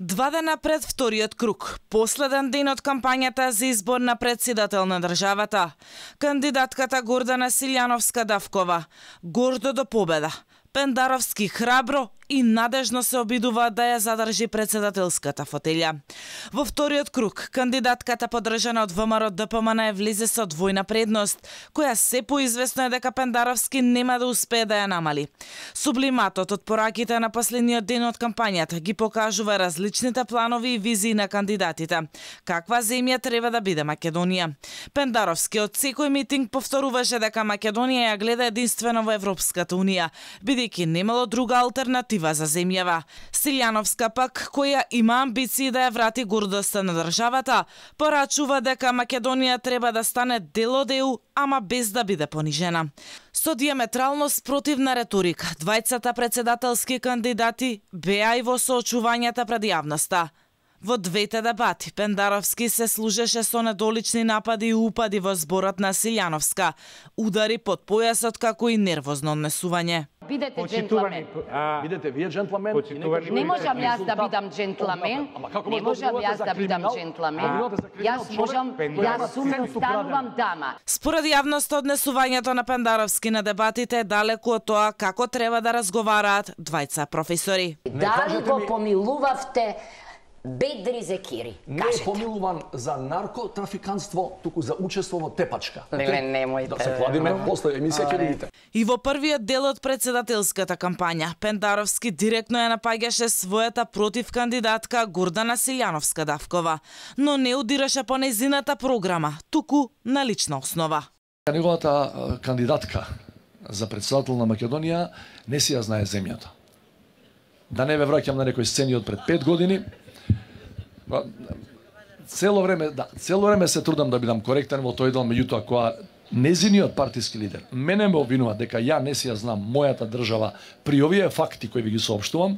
Два дена пред вториот круг, последен ден од кампањата за избор на претседател на државата, кандидатката Гордана Силјановска-Давкова гордо до победа, Пендаровски храбро и надежно се обидува да ја задржи претседателската фотелја. Во вториот круг, кандидатката подржана од ВМРО ДПМН влезе со двојна предност, која се поизвестно е дека Пендаровски нема да успее да ја намали. Сублиматот од пораките на последниот ден од кампањата ги покажува различните планови и визии на кандидатите. Каква земја треба да биде Македонија? Пендаровски од секој митинг повторуваше дека Македонија ја гледа единствено во Европската унија, бидејќи немало друга алтернатива за земјава. Силјановска пак, која има амбиции да ја врати гордоста на државата, порачува дека Македонија треба да стане дел од ЕУ, ама без да биде понижена. Со диаметрално спротивна реторика, двајцата претседателски кандидати беа и во соочувањата пред јавноста. Во двете дебати, Пендаровски се служеше со недолични напади и упади во зборот на Силјановска, удари под појасот како и нервозно однесување. Бидете джентламен. Бидете вие джентламен. Не можам јас да бидам джентламен. Не можам јас да бидам джентламен. Јас сум станувам дама. Според јавноста, однесувањето на Пендаровски на дебатите е далеку од тоа како треба да разговараат двајца професори. Дали го помилувавте Бедри Зекири? Не е помилуван за наркотрафиканство, туку за учество во тепачка. Немојте. Да се кладиме после емисија ќе видите. И во првиот дел од претседателската кампања, Пендаровски директно ја напаѓаше својата против кандидатка Гордана Силјановска-Давкова, но не удираше по нејзината програма, туку на лична основа. Неговата кандидатка за претседател на Македонија не си ја знае земјата. Да не ве враќам на некои сцени од пред 5 години, цело време се трудам да бидам коректен во тој дел, меѓутоа кога незиниот партиски лидер мене ме обвинува дека ја не си ја знам мојата држава при овие факти кои ви ги соопштувам,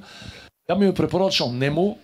ја ми препорачам нему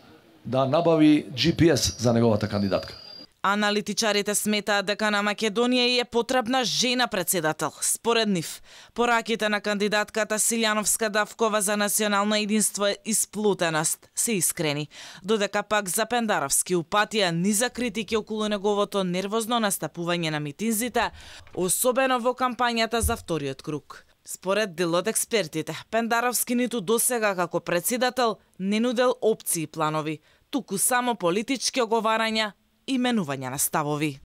да набави GPS за неговата кандидатка. Аналитичарите сметаат дека на Македонија е потребна жена претседател. Според нив, пораките на кандидатката Силјановска-Давкова за национално единство и сплутеност се искрени, додека пак за Пендаровски упатија низа критики околу неговото нервозно настапување на митинзите, особено во кампањата за вториот круг. Според дел од експертите, Пендаровски ниту досега како претседател не нудел опции и планови, туку само политички оговарања и менување на ставови.